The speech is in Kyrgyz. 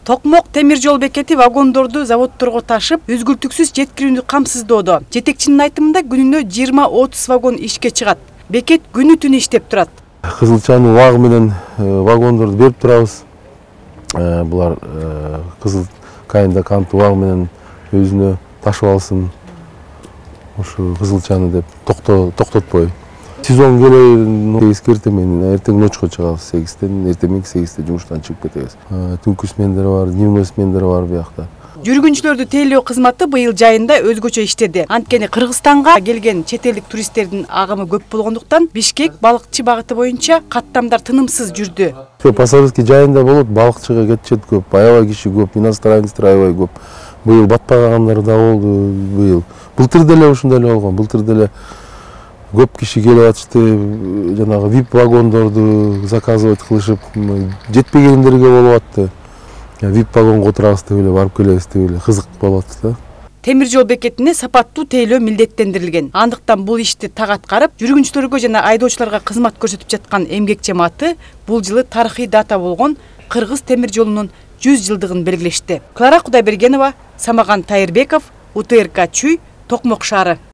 Токмок темир жол бекети вагондорду заводдорго ташып, үзгүлтүксүз жеткирүүнү камсыздоодо. Жетекчинин айтымында күнүнө 20-30 вагон ишке чыгат. Бекет күнү түнү иштеп турат. Кызылчанын убагы менен вагондорду берип турабыз. Булар кызыл кайында кант убагы менен өзүнө ташып алсын. Ушу Кызылчаны деп токтотпой. Сезон келе эскертем, мен эртең ночко чыгабыз 8-тен, эртең 8-те жумуштан чыгып кетебиз. Түнкү смендер бар, дневной смендер бар буякта. Жүргүнчүлөрдү тейлөө кызматы быйыл жайында өзгөчө иштеди. Анткени Кыргызстанга келген чет элдик туристтердин агымы көп болгондуктан Бишкек балыкчы багыты боюнча каттамдар тынымсыз жүрдү. Пасарский жайында болот, балыкчыга кетишет көп, аябай киши көп, иностранецтер аябай көп. Быйыл батпагандар да болду, быйыл. Былтыр деле ушундай эле болгон, былтыр деле көп киши келип атышты, жанагы VIP вагондорду заказывать кылышып, жетпегендерге болуп атты. VIP вагонго отурабыз деп эле барып келебиз деп эле кызык болуп атты да. Темир жол бекетине сапаттуу тейлөө милдеттендирилген. Андыктан бул ишти так аткарып, жүргүнчүлөргө жана айдоочуларга кызмат көрсөтүп жаткан эмгек жамааты бул жылы тарыхый дата болгон Кыргыз темир жолунун 100 жылдыгын белгилешти. Клара Кудайбергенова, Самаган Тайырбеков, УТРК Чүй, Токмок шаары.